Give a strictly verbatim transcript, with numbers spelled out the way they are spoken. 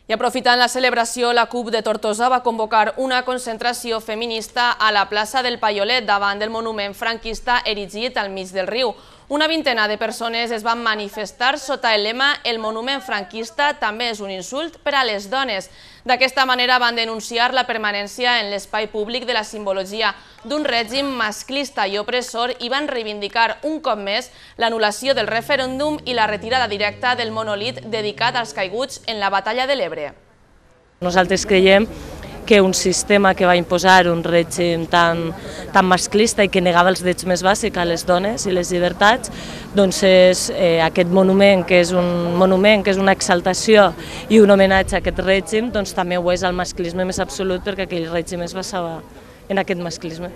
I aprofitant la celebració, la CUP de Tortosa va convocar una concentració feminista a la plaça del Paiolet davant del monument franquista erigit al mig del riu. Una vintena de persones es van manifestar sota el lema «El monument franquista també és un insult per a les dones». D'aquesta manera van denunciar la permanència en l'espai públic de la simbologia d'un règim masclista i opressor i van reivindicar un cop més l'anul·lació del referèndum i la retirada directa del monolit dedicat als caiguts en la batalla de l'Ebre. Nosaltres creiem que un sistema que va imposar un règim tan, tan masclista i que negava els drets més bàsics a les dones i les llibertats, doncs és eh, aquest monument, que és un monument, que és una exaltació i un homenatge a aquest règim, doncs també ho és al masclisme més absolut, perquè aquell règim es basava en aquest masclisme.